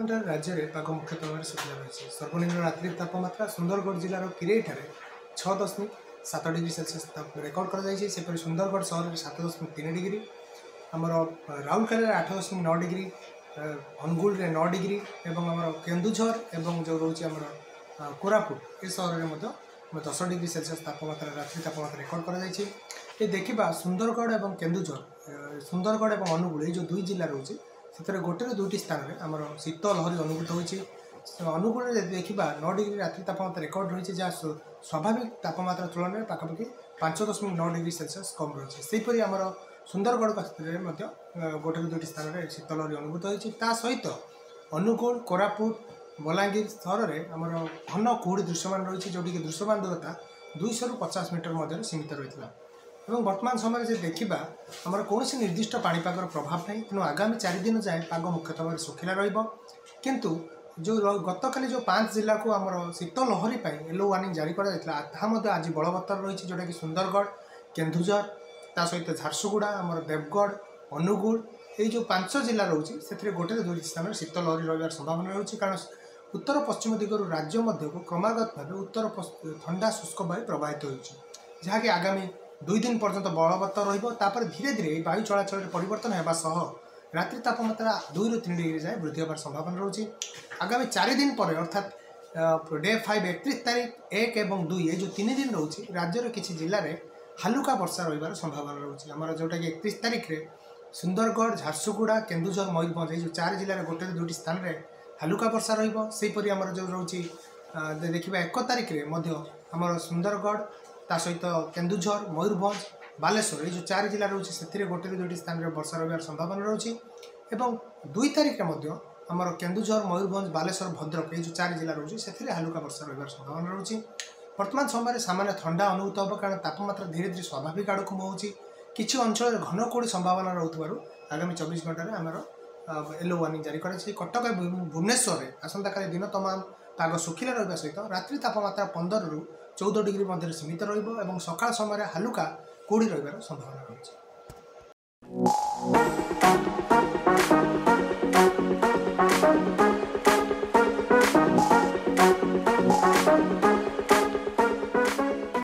ଘଣ୍ଟାରେ ରାଜ୍ୟରେ ପାଗ ମୁଖ୍ୟତଃ ଭାବରେ ଶୁଖିଲା ରହିଛି। ସର୍ବନିମ୍ନ ରାତ୍ରି ତାପମାତ୍ରା ସୁନ୍ଦରଗଡ଼ ଜିଲ୍ଲାର କିରେଇଠାରେ 6.7 ଡିଗ୍ରୀ ସେଲସିୟସ୍ ରେକର୍ଡ କରାଯାଇଛି। ସେପରି ସୁନ୍ଦରଗଡ଼ ସହରରେ 7.3 ଡିଗ୍ରୀ, ଆମର ରାଉରକେଲାରେ 8.9 ଡିଗ୍ରୀ, ଅନୁଗୁଳରେ 9 ଡିଗ୍ରୀ ଏବଂ ଆମର କେନ୍ଦୁଝର ଏବଂ ଯେଉଁ ରହୁଛି ଆମର କୋରାପୁଟ ଏ ସହରରେ ମଧ୍ୟ 10 ଡିଗ୍ରୀ ସେଲସିୟସ୍ ତାପମାତ୍ରା ରାତ୍ରି ତାପମାତ୍ରା ରେକର୍ଡ କରାଯାଇଛି। ଏ ଦେଖିବା ସୁନ୍ଦରଗଡ଼ ଏବଂ କେନ୍ଦୁଝର, ସୁନ୍ଦରଗଡ଼ ଏବଂ ଅନୁଗୁଳ ଏଇ ଯେଉଁ ଦୁଇ ଜିଲ୍ଲା ରହୁଛି ସେଥିରେ ଗୋଟେରୁ ଦୁଇଟି ସ୍ଥାନରେ ଆମର ଶୀତ ଲହରୀ ଅନୁଭୂତ ହୋଇଛି। ଅନୁଗୁଳରେ ଯଦି ଦେଖିବା 9 ଡିଗ୍ରୀ ରାତ୍ରି ତାପମାତ୍ରା ରେକର୍ଡ ରହିଛି, ଯାହା ସ୍ୱାଭାବିକ ତାପମାତ୍ରା ତୁଳନାରେ ପାଖାପାଖି 5.9 ଡିଗ୍ରୀ ସେଲସିୟସ୍ କମ୍ ରହିଛି। ସେହିପରି ଆମର ସୁନ୍ଦରଗଡ଼ କ୍ଷେତ୍ରରେ ମଧ୍ୟ ଗୋଟେରୁ ଦୁଇଟି ସ୍ଥାନରେ ଶୀତ ଲହରୀ ଅନୁଭୂତ ହୋଇଛି। ତା ସହିତ ଅନୁଗୁଳ, କୋରାପୁଟ, ବଲାଙ୍ଗୀର ସହରରେ ଆମର ଘନ କୁହୁଡ଼ି ଦୃଶ୍ୟମାନ ରହିଛି, ଯେଉଁଠିକି ଦୃଶ୍ୟମାନ ଦୂରତା 200ରୁ 50 ମିଟର ମଧ୍ୟରେ ସୀମିତ ରହିଥିଲା। ଏବଂ ବର୍ତ୍ତମାନ ସମୟରେ ଯଦି ଦେଖିବା ଆମର କୌଣସି ନିର୍ଦ୍ଦିଷ୍ଟ ପାଣିପାଗର ପ୍ରଭାବ ନାହିଁ, ତେଣୁ ଆଗାମୀ 4 ଦିନ ଯାଏଁ ପାଗ ମୁଖ୍ୟତଃ ଭାବରେ ଶୁଖିଲା ରହିବ। କିନ୍ତୁ ଯେଉଁ ଗତକାଲି ଯେଉଁ 5 ଜିଲ୍ଲାକୁ ଆମର ଶୀତ ଲହରୀ ପାଇଁ ୟେଲୋ ୱାର୍ଣ୍ଣିଂ ଜାରି କରାଯାଇଥିଲା ତାହା ମଧ୍ୟ ଆଜି ବଳବତ୍ତର ରହିଛି, ଯେଉଁଟାକି ସୁନ୍ଦରଗଡ଼, କେନ୍ଦୁଝର, ତା ସହିତ ଝାରସୁଗୁଡ଼ା, ଆମର ଦେବଗଡ଼, ଅନୁଗୁଳ ଏଇ ଯେଉଁ 5 ଜିଲ୍ଲା ରହୁଛି ସେଥିରେ ଗୋଟେରୁ ଦୁଇଟି ସ୍ଥାନରେ ଶୀତ ଲହରୀ ରହିବାର ସମ୍ଭାବନା ରହୁଛି। କାରଣ ଉତ୍ତର ପଶ୍ଚିମ ଦିଗରୁ ରାଜ୍ୟ ମଧ୍ୟକୁ କ୍ରମାଗତ ଭାବେ ଉତ୍ତର ଥଣ୍ଡା ଶୁଷ୍କ ବାୟୁ ପ୍ରବାହିତ ହେଉଛି, ଯାହାକି ଆଗାମୀ 2 ଦିନ ପର୍ଯ୍ୟନ୍ତ ବଳବତ୍ତର ରହିବ। ତାପରେ ଧୀରେ ଧୀରେ ଏହି ବାୟୁ ଚଳାଚଳରେ ପରିବର୍ତ୍ତନ ହେବା ସହ ରାତ୍ରି ତାପମାତ୍ରା 2ରୁ 3 ଡିଗ୍ରୀ ଯାଏଁ ବୃଦ୍ଧି ହେବାର ସମ୍ଭାବନା ରହୁଛି। ଆଗାମୀ 4 ଦିନ ପରେ ଅର୍ଥାତ୍ ଡେ 5 31 ତାରିଖ 1 ଏବଂ 2 ଏ ଯେଉଁ 3 ଦିନ ରହୁଛି ରାଜ୍ୟର କିଛି ଜିଲ୍ଲାରେ ହାଲୁକା ବର୍ଷା ରହିବାର ସମ୍ଭାବନା ରହୁଛି। ଆମର ଯେଉଁଟାକି 31 ତାରିଖରେ ସୁନ୍ଦରଗଡ଼, ଝାରସୁଗୁଡ଼ା, କେନ୍ଦୁଝର, ମୟୂରଭଞ୍ଜ ଏଇ ଯେଉଁ 4 ଜିଲ୍ଲାରେ ଗୋଟେରୁ ଦୁଇଟି ସ୍ଥାନରେ ହାଲୁକା ବର୍ଷା ରହିବ। ସେହିପରି ଆମର ଯେଉଁ ରହୁଛି ଦେଖିବା 1 ତାରିଖରେ ମଧ୍ୟ ଆମର ସୁନ୍ଦରଗଡ଼, ତା ସହିତ କେନ୍ଦୁଝର, ମୟୂରଭଞ୍ଜ, ବାଲେଶ୍ୱର ଏଇ ଯେଉଁ 4 ଜିଲ୍ଲା ରହୁଛି ସେଥିରେ ଗୋଟେରୁ ଦୁଇଟି ସ୍ଥାନରେ ବର୍ଷା ରହିବାର ସମ୍ଭାବନା ରହୁଛି। ଏବଂ 2 ତାରିଖରେ ମଧ୍ୟ ଆମର କେନ୍ଦୁଝର, ମୟୂରଭଞ୍ଜ, ବାଲେଶ୍ୱର, ଭଦ୍ରକ ଏଇ ଯେଉଁ 4 ଜିଲ୍ଲା ରହୁଛି ସେଥିରେ ହାଲୁକା ବର୍ଷା ରହିବାର ସମ୍ଭାବନା ରହୁଛି। ବର୍ତ୍ତମାନ ସମୟରେ ସାମାନ୍ୟ ଥଣ୍ଡା ଅନୁଭୂତ ହେବ, କାରଣ ତାପମାତ୍ରା ଧୀରେ ଧୀରେ ସ୍ୱାଭାବିକ ଆଡ଼କୁ ମୁହାଁଉଛି। କିଛି ଅଞ୍ଚଳରେ ଘନ କୁହୁଡ଼ି ସମ୍ଭାବନା ରହୁଥିବାରୁ ଆଗାମୀ 24 ଘଣ୍ଟାରେ ଆମର ୟେଲୋ ୱାର୍ଣ୍ଣିଂ ଜାରି କରାଯାଇଛି। କଟକ ଏବଂ ଭୁବନେଶ୍ୱରରେ ଆସନ୍ତାକାଲି ଦିନ ତମାମ ପାଗ ଶୁଖିଲା ରହିବା ସହିତ ରାତ୍ରି ତାପମାତ୍ରା 15ରୁ 14 ଡିଗ୍ରୀ ମଧ୍ୟରେ ସୀମିତ ରହିବ ଏବଂ ସକାଳ ସମୟରେ ହାଲୁକା କୁହୁଡ଼ି ରହିବାର ସମ୍ଭାବନା ରହିଛି।